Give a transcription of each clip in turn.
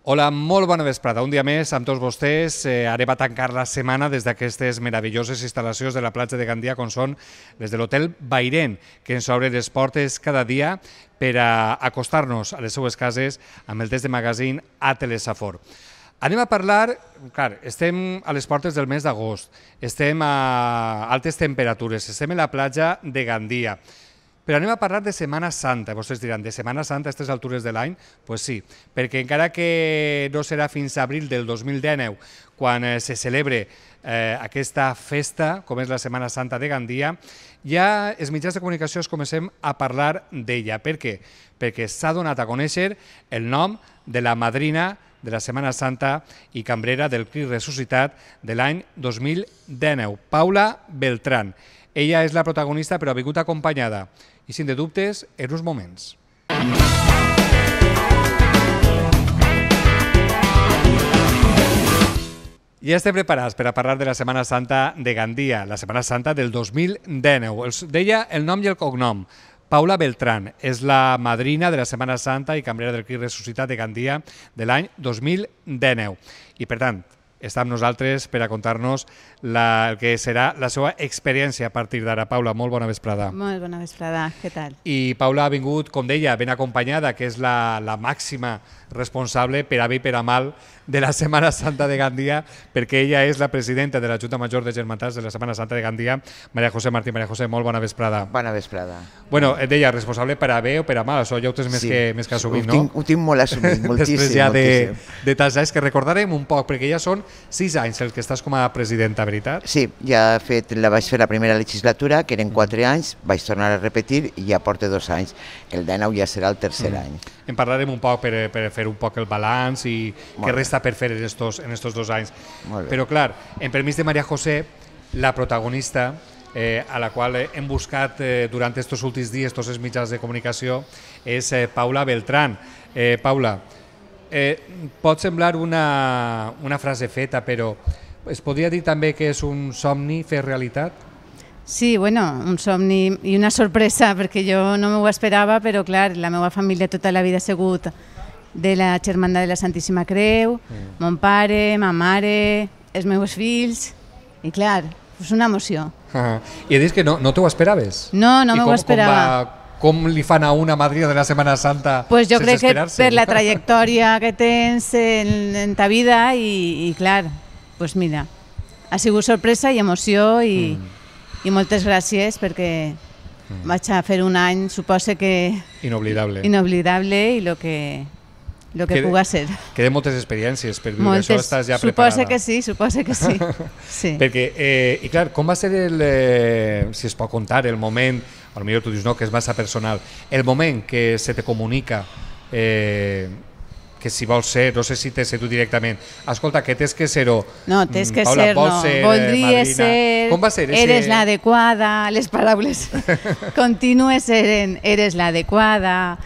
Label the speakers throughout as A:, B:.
A: Hola, molt bona vesprada. Un dia més amb tots vostès. Anem a tancar la setmana des d'aquestes meravelloses instal·lacions de la platja de Gandia, com són les de l'Hotel Bairén, que ens obren les portes cada dia per a acostar-nos a les seues cases amb el test de magazine a Telesafor. Anem a parlar, clar, estem a les portes del mes d'agost, estem a altes temperatures, estem en la platja de Gandia. Però anem a parlar de Setmana Santa. Vostès diran, de Setmana Santa a aquestes altures de l'any? Doncs sí, perquè encara que no serà fins a abril del 2019 quan se celebre aquesta festa, com és la Setmana Santa de Gandia, ja els mitjans de comunicació comencem a parlar d'ella. Per què? Perquè s'ha donat a conèixer el nom de la madrina de la Setmana Santa i cambrera del Crist Ressuscitat de l'any 2019, Paula Beltrán. Ella és la protagonista, però ha vingut acompanyada, i sin de dubtes, en uns moments. Ja estem preparats per a parlar de la Setmana Santa de Gandia, la Setmana Santa del 2019. Deia el nom i el cognom. Paula Beltrán és la madrina de la Setmana Santa i cambrera del Crist Ressuscitat de Gandia de l'any 2019. I, per tant, està amb nosaltres per a contar-nos el que serà la seva experiència a partir d'ara. Paula, molt bona vesprada.
B: Molt bona vesprada, què tal?
A: I Paula ha vingut, com deia, ben acompanyada, que és la màxima responsable, per a bé i per a mal, de la Setmana Santa de Gandia, perquè ella és la presidenta de la Junta Major de Germantats de la Setmana Santa de Gandia, Maria José Martín. Maria José, molt bona vesprada.
C: Bona vesprada.
A: Bueno, et deia, responsable per a bé o per a mal, això ja ho tens més que assumit, no?
C: Ho tinc molt assumit, moltíssim.
A: Després ja de tants anys, que recordarem un poc, perquè ja són 6 anys els que estàs com a presidenta, veritat?
C: Sí, ja vaig fer la primera legislatura, que eren 4 anys, vaig tornar a repetir i ja porto 2 anys. El 19 ja serà el tercer any.
A: En parlarem un poc per fer un poc el balanç i què resta per fer en estos 2 anys. Però clar, en permís de Maria José, la protagonista a la qual hem buscat durant aquests últims dies tots els mitjans de comunicació és Paula Beltrán. Paula, pot semblar una frase feta, però es podria dir també que és un somni fer realitat?
B: Sí, bueno, un somni i una sorpresa, perquè jo no m'ho esperava, però clar, la meva família tota la vida ha sigut de la Germandat de la Santíssima Creu, mon pare, ma mare, els meus fills, i clar, és una emoció.
A: I he dit que no t'ho esperaves?
B: No m'ho esperava.
A: Com li fan a una madrina de la Setmana Santa
B: sense esperar-se? Jo crec que per la trajectòria que tens en ta vida i clar, doncs mira, ha sigut sorpresa i emoció i moltes gràcies perquè vaig a fer un any, suposo que...
A: Inoblidable.
B: Inoblidable i el que puga ser.
A: Queden moltes experiències per viure això, estàs ja preparada.
B: Suposo que sí.
A: Perquè, i clar, com va ser si es pot contar, el moment, potser tu dius no, que és massa personal, el moment que se te comunica que si vols ser, no sé si t'has tu directament, escolta, que tens que ser-ho.
B: No, tens que ser, no. Voldria ser,
A: com va ser?
B: Eres l'adequada, les paraules contínues eren, eres l'adequada,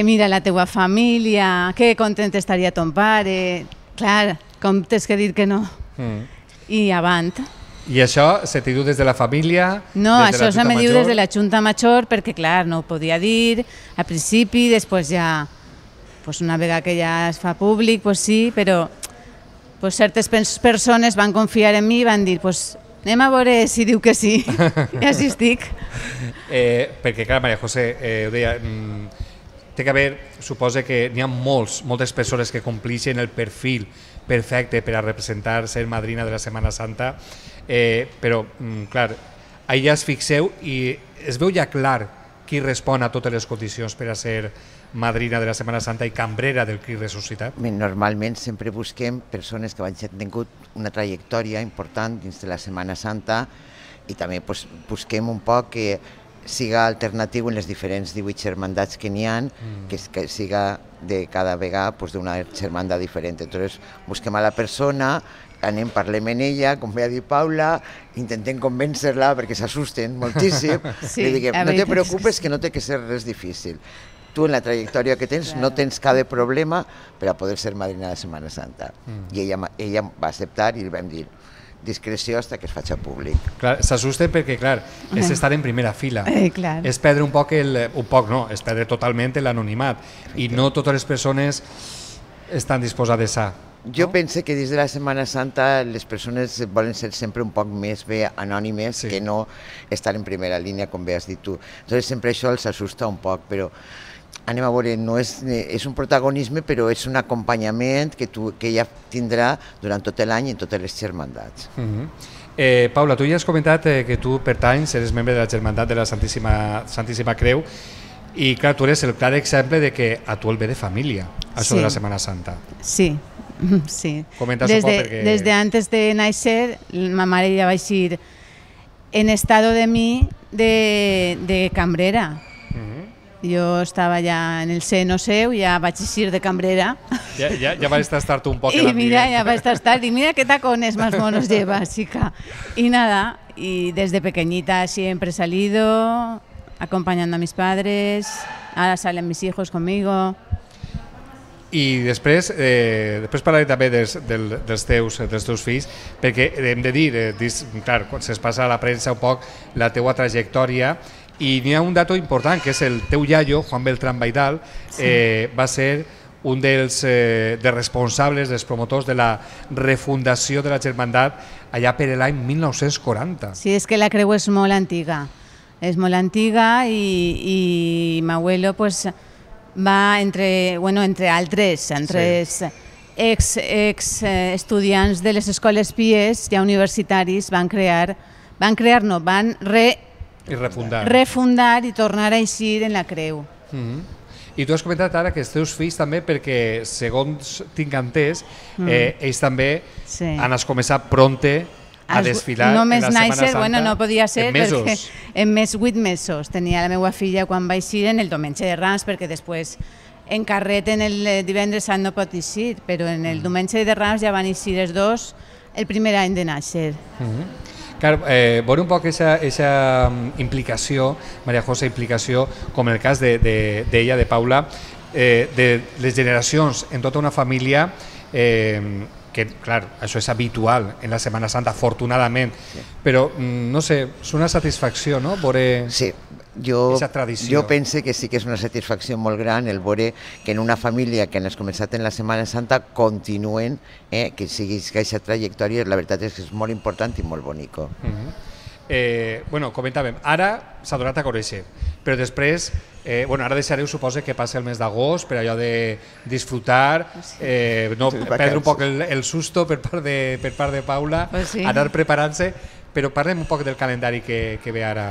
B: mira la teua família, que content estaria ton pare, clar, com tens que dir que no. I avant.
A: I això se t'hi diu des de la família?
B: No, això se m'hi diu des de la Junta Major, perquè clar, no ho podia dir al principi, després ja... Una vegada que ja es fa públic, sí, però certes persones van confiar en mi i van dir anem a veure si diu que sí, i així estic.
A: Perquè, clar, Maria José, ho deia, té que haver, suposa que n'hi ha moltes persones que complixen el perfil perfecte per a representar, ser madrina de la Setmana Santa, però, clar, allà es fixeu i es veu ja clar qui respon a totes les condicions per a ser madrina de la Setmana Santa i cambrera del Crist Ressuscitat?
C: Normalment sempre busquem persones que han tingut una trajectòria important dins de la Setmana Santa i també busquem un poc que siga alternatiu en les diferents 18 germandats que n'hi ha, que siga de cada vegada d'una germanda diferent. Entonces busquem a la persona, parlem amb ella, com ve a dir Paula, intentem convèncer-la perquè s'assusten moltíssim. Li diguem, no te preocupes que no té que ser res difícil. Tu en la trajectòria que tens no tens cada problema per a poder ser madrina de la Setmana Santa. I ella va acceptar i li vam dir discreció fins que es faci públic.
A: S'assusten perquè, clar, és estar en primera fila. És perdre un poc no, és perdre totalment l'anonimat. I no totes les persones estan disposades a?
C: Jo penso que dins de la Setmana Santa les persones volen ser sempre un poc més bé anònimes que no estar en primera línia, com bé has dit tu. Entonces sempre això els assusta un poc, però anem a veure, no és un protagonisme, però és un acompanyament que ella tindrà durant tot l'any en totes les germandats.
A: Paula, tu ja has comentat que tu pertanys, eres membre de la Germandat de la Santíssima Creu, i clar, tu eres el clar exemple de que a tu el ve de família, això de la Setmana Santa.
B: Sí. Sí.
A: Desde
B: antes de nacer, ma mare ja va eixir en estado de mi de cambrera. Jo estava ja en el seno seu, ja vaig eixir de cambrera.
A: Ja vas estar tu un poc en
B: l'ambient. I mira, ja vaig estar, y mira qué tacones más monos lleva, chica. Y nada, y desde pequeñita siempre he salido acompañando a mis padres, ahora salen mis hijos conmigo.
A: I després parlaré també dels teus fills, perquè hem de dir, clar, quan se'ns passa a la premsa un poc la teua trajectòria, i n'hi ha un dato important, que és el teu iaio, Juan Beltrán Baidal, va ser un dels responsables, dels promotors de la refundació de la Germandat allà per l'any 1940.
B: Sí, és que la creu és molt antiga, i m'abuelo, pues, va entre altres ex estudiants de les escoles pies, ja universitaris, van refundar i tornar a eixir en la creu.
A: I tu has comentat ara que els teus fills també, perquè segons tinc entès, ells també han començat pronte a desfilar en la Setmana Santa.
B: Bueno, no podia ser
A: perquè
B: en 8 mesos. Tenia la meva filla quan va eixir en el Diumenge de Rams, perquè després en carret en el divendres sant no pot eixir, però en el Diumenge de Rams ja van eixir els dos el primer any de nàixer.
A: Veure un poc aquesta implicació, Maria José, implicació, com en el cas d'ella, de Paula, de les generacions en tota una família, que, clar, això és habitual en la Setmana Santa, afortunadament, però, no sé, és una satisfacció, no?, veure aquesta tradició.
C: Jo penso que sí que és una satisfacció molt gran el veure que en una família que han començat en la Setmana Santa continuen, que sigui aquesta trajectòria, la veritat és que és molt important i molt bonic.
A: Comentàvem, ara s'ha donat a conèixer, però després, ara deixareu, suposa, que passi el mes d'agost per allò de disfrutar, no perdre un poc el susto per part de Paula, anar preparant-se, però parlem un poc del calendari que ve ara.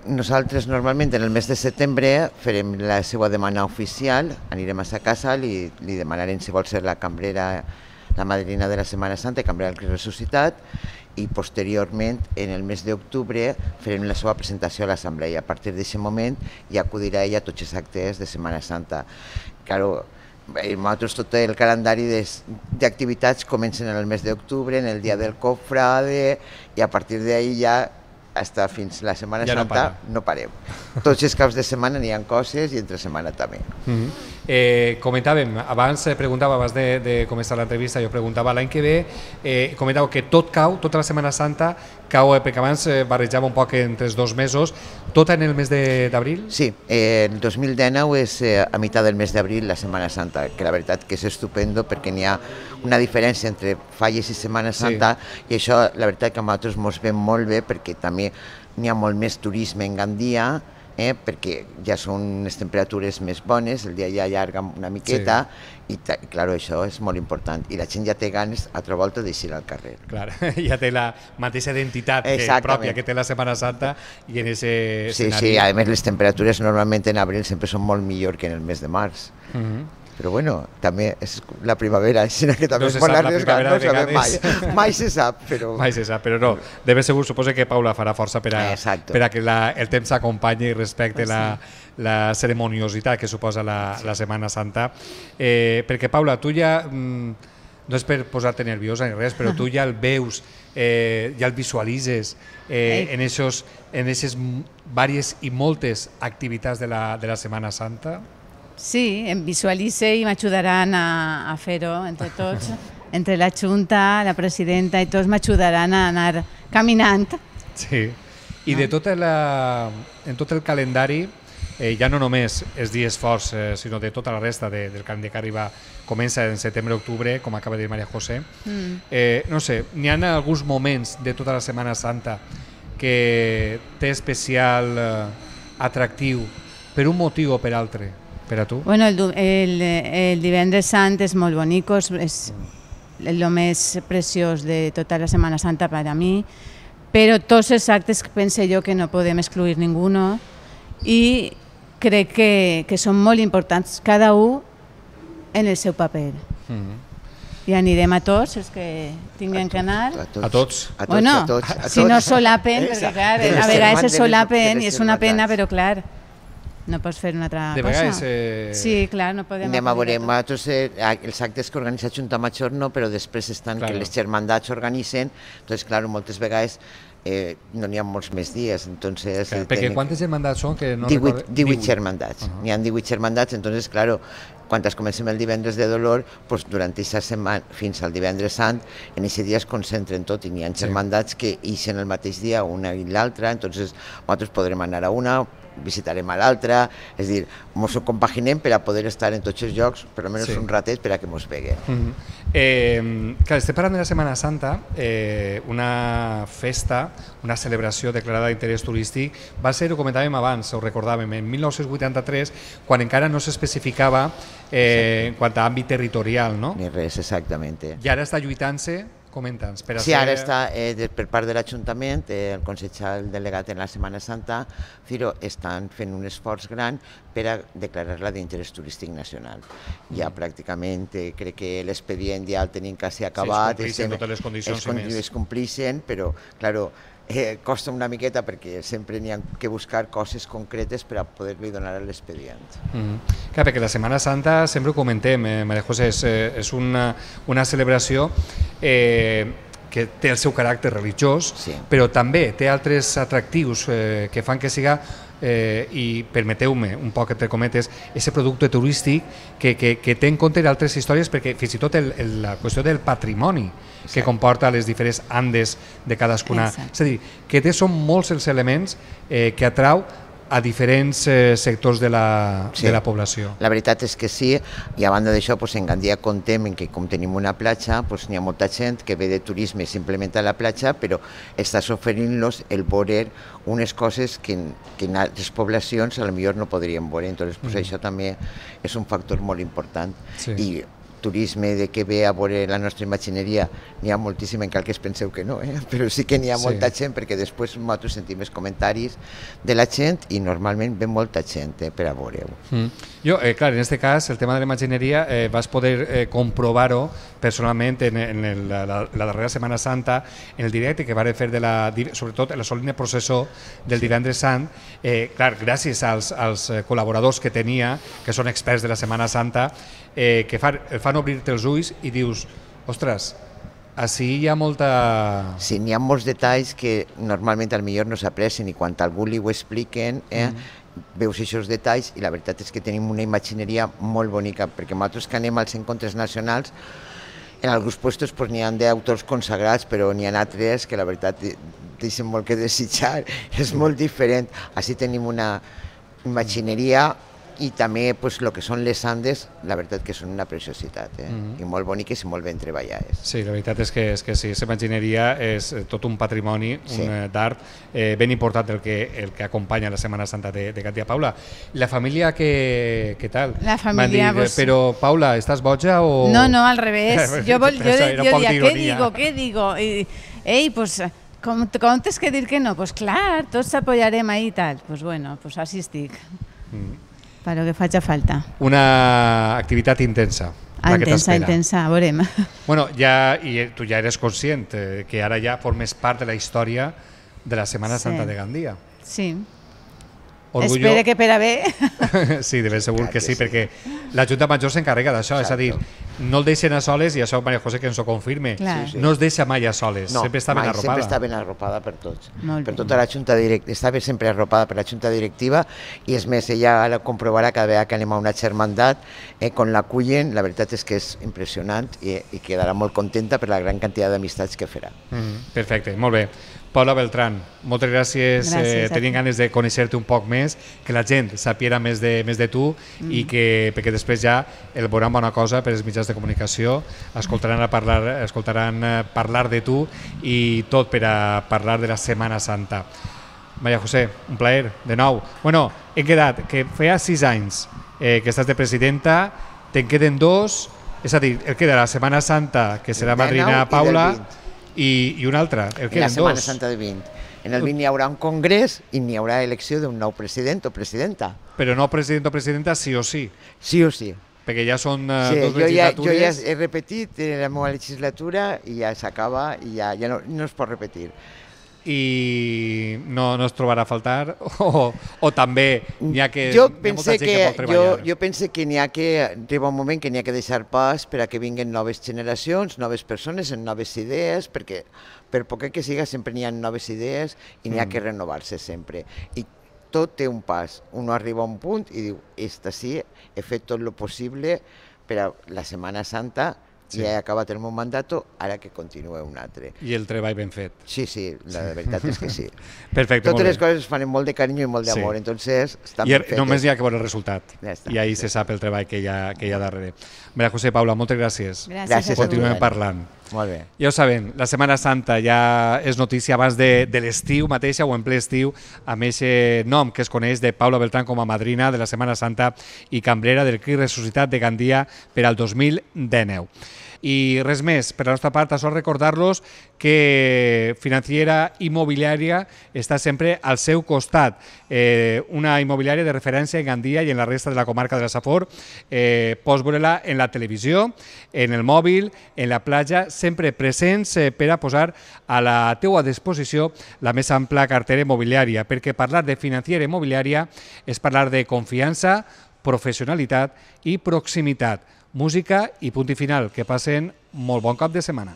C: Nosaltres normalment en el mes de setembre farem la seva demanda oficial, anirem a sa casa, li demanarem si vol ser la cambrera, la madrina de la Setmana Santa, cambrera del Crist Ressuscitat, i posteriorment, en el mes d'octubre, farem la seva presentació a l'assemblea. A partir d'aquest moment ja acudirà ella a tots els actes de Setmana Santa. Claro, nosaltres tot el calendari d'activitats comencen en el mes d'octubre, en el dia del cofrade, i a partir d'ahir ja fins la Setmana Santa no parem. Tots els caps de setmana n'hi ha coses i entre setmana també.
A: Comentàvem, abans de començar l'entrevista, jo preguntava l'any que ve, comentàveu que tot cau, tota la Setmana Santa cau, perquè abans barrejava un poc entre els 2 mesos, tot en el mes d'abril?
C: Sí, el 2019 és a meitat del mes d'abril la Setmana Santa, que la veritat que és estupendo perquè n'hi ha una diferència entre Falles i Setmana Santa, i això la veritat que a nosaltres ens ve molt bé perquè també n'hi ha molt més turisme en Gandia, perquè ja són unes temperatures més bones, el dia ja allarga una miqueta, i clar, això és molt important, i la gent ja té ganes a altra volta d'eixir al carrer.
A: Clar, ja té la mateixa identitat pròpia que té la Setmana Santa i en aquest escenari.
C: Sí, a més les temperatures normalment en abril sempre són molt millor que en el mes de març. Però bueno, també és la primavera, així que també es pot arriesgar, no sabem mai. Mai se sap, però...
A: Mai se sap, però no. De ben segur, suposo que Paula farà força per a que el temps s'acompanyi i respecte la ceremoniositat que suposa la Setmana Santa. Perquè, Paula, tu ja, no és per posar-te nerviosa ni res, però tu ja el veus, ja el visualitzes en aquestes diverses i moltes activitats de la Setmana Santa?
B: Sí, em visualitze i m'ajudaran a fer-ho entre tots, entre la Junta, la presidenta i tots m'ajudaran a anar caminant.
A: Sí, i en tot el calendari, ja no només els dies forts, sinó de tota la resta del calendari que arriba, comença en setembre-octubre, com acaba de dir Maria José. No sé, n'hi ha alguns moments de tota la Setmana Santa que té especial atractiu per un motiu o per altre, per a tu?
B: Bueno, el divendres sant és molt bonic, és el més preciós de tota la Setmana Santa per a mi, però tots els actes penso jo que no podem excluir ningú, i crec que són molt importants, cada un en el seu paper. I anirem a tots els que tinguin que anar.
A: A tots?
B: Bueno, si no solapen, perquè clar, a vegades se solapen i és una pena, però clar, no pots fer una altra cosa.
A: De vegades...
B: Sí, clar, no podem...
C: Anem a veure, els actes que organitza Junta Major no, però després estan que les germandats organitzen, doncs clar, moltes vegades no n'hi ha molts més dies.
A: Perquè quantes germandats són?
C: 18 germandats. N'hi ha 18 germandats, entonces, claro, quan comencem el divendres de dolor, durant aquesta setmana fins al divendres sant, en aquest dia es concentren tot i n'hi ha germandats que ixen el mateix dia una i l'altra, entonces nosaltres podrem anar a una, visitarem a l'altra, és a dir, ens ho compaginem per a poder estar en tots els llocs, per almenys un ratet per a que ens veguen.
A: Clar, estem parlant de la Setmana Santa, una festa, una celebració declarada d'interès turístic, va ser, ho comentàvem abans, ho recordàvem, en 1983, quan encara no s'especificava en quant a àmbit territorial, no?
C: Ni res, exactament.
A: I ara està lluitant-se. Comenta'ns.
C: Sí, ara està per part de l'Ajuntament, el consellal delegat en la Setmana Santa, Ciro, estan fent un esforç gran per a declarar-la d'interès turístic nacional. Ja pràcticament crec que l'expedient ja el tenim quasi acabat.
A: Sí, es complixen totes les condicions i més.
C: Es complixen, però, clar, costa una miqueta perquè sempre n'hi ha que buscar coses concretes per a poder-li donar l'expedient.
A: Clar, perquè la Setmana Santa, sempre ho comentem, Maria José, és una celebració que té el seu caràcter religiós, però també té altres atractius que fan que siga, i permeteu-me un poc entre cometes, aquest producte turístic que té en compte altres històries, perquè fins i tot la qüestió del patrimoni que comporta les diferents andes de cadascuna. És a dir, que són molts els elements que atrau a diferents sectors de la població.
C: La veritat és que sí, i a banda d'això, en Gandia contem que com tenim una platja, n'hi ha molta gent que ve de turisme simplement a la platja, però estàs oferint-los el veure unes coses que en altres poblacions potser no podrien veure, entonces això també és un factor molt important. I turisme de que ve a veure la nostra imagineria n'hi ha moltíssim, encara que es penseu que no, però sí que n'hi ha molta gent, perquè després nosaltres sentim els comentaris de la gent i normalment ve molta gent per a veure-ho.
A: Jo, clar, en aquest cas, el tema de la imagineria vas poder comprovar-ho personalment en la darrera Setmana Santa, en el directe que van fer, sobretot en la solemne processó del divendres sant, clar, gràcies als col·laboradors que tenia, que són experts de la Setmana Santa, que fan obrir-te els ulls i dius, ostres, ací hi ha molta...
C: Sí, n'hi ha molts detalls que normalment potser no s'aprecien i quan algú li ho expliquen veus aquests detalls i la veritat és que tenim una imagineria molt bonica, perquè nosaltres que anem als encontres nacionals, en alguns llocs n'hi ha d'autors consagrats, però n'hi ha altres que la veritat deixen molt que desitjar, és molt diferent. Així tenim una imagineria i també el que són les andes, la veritat que són una preciositat, i molt boniques i molt ben treballades.
A: Sí, la veritat és que sí, la imagineria és tot un patrimoni d'art ben important el que acompanya la Setmana Santa de Gandia. Paula, la família què tal?
B: La família...
A: Però, Paula, estàs boja o...?
B: No, al revés. Jo diria, què digo? Ei, pues... Com tens que dir que no? Pues clar, tots s'apoyarem ahí i tal. Pues bueno, pues així estic. Per lo que faci falta.
A: Una activitat intensa.
B: Intensa, veurem.
A: Bueno, tu ja eres conscient que ara ja formes part de la història de la Setmana Santa de Gandia.
B: Sí. Espero que per a bé.
A: Sí, de ben segur que sí, perquè la Junta Major s'encarrega d'això, és a dir, no el deixen a soles, i això Maria José que ens ho confirme, no es deixa mai a soles, sempre està ben arropada.
C: Sempre està ben arropada per tots, per tota la Junta Directiva, està sempre arropada per la Junta Directiva, i és més, ella ara comprovarà cada vegada que anem a una germandat, quan l'acullen, la veritat és que és impressionant i quedarà molt contenta per la gran quantitat d'amistats que farà.
A: Perfecte, molt bé. Paula Beltrán, moltes gràcies. Tenim ganes de conèixer-te un poc més, que la gent sapiera més de tu i que perquè després ja el veuran bona cosa per als mitjans de comunicació, escoltaran parlar de tu i tot per a parlar de la Setmana Santa. Maria José, un plaer, de nou. Bueno, he quedat que feia 6 anys que estàs de presidenta, te'n queden 2, és a dir, el queda la Setmana Santa, que serà madrina Paula, i una altra, el queden 2.
C: La Setmana Santa del 20. En el 20 hi haurà un congrés i n'hi haurà elecció d'un nou president o presidenta.
A: Però no president o presidenta sí o sí.
C: Sí o sí.
A: Perquè ja són
C: sí,
A: 2 legislatures.
C: Jo ja he repetit la meva legislatura i ja s'acaba i ja no es pot repetir.
A: I no es trobarà a faltar o també n'hi ha que...
C: Jo pense que n'hi ha que arriba un moment que n'hi ha que deixar pas per a que vinguin noves generacions, noves persones amb noves idees, perquè per poc que siga sempre n'hi ha noves idees i n'hi ha que renovar-se sempre. I tot té un pas. Uno arriba a un punt i diu, esta sí, he fet tot el possible per a la Setmana Santa. Sí. Ja he acabat el meu mandat, ara que continua un altre.
A: I el treball ben fet.
C: Sí, la veritat és que sí.
A: Perfecte,
C: totes les coses es fan amb molt de carinyo i molt d'amor, entonces estan ben fetes.
A: Només hi ha que veure el resultat, i ahir se sap el treball que hi ha darrere. Maria José, Paula, moltes gràcies.
B: Gràcies.
A: Continuem parlant.
C: Molt bé.
A: Ja ho saben, la Setmana Santa ja és notícia abans de l'estiu mateixa o en ple estiu, amb aquest nom que es coneix de Paula Beltrán com a madrina de la Setmana Santa i cambrera del Crit Ressuscitat de Gandia per al 2019. I res més, per la nostra part, això recordar-los que Financiera Immobiliària està sempre al seu costat. Una immobiliària de referència en Gandia i en la resta de la comarca de la Safor. Pots veure-la en la televisió, en el mòbil, en la platja, sempre presents per a posar a la teua disposició la més ampla cartera immobiliària, perquè parlar de Financiera Immobiliària és parlar de confiança, professionalitat i proximitat. Música i punt i final. Que passen molt bon cap de setmana.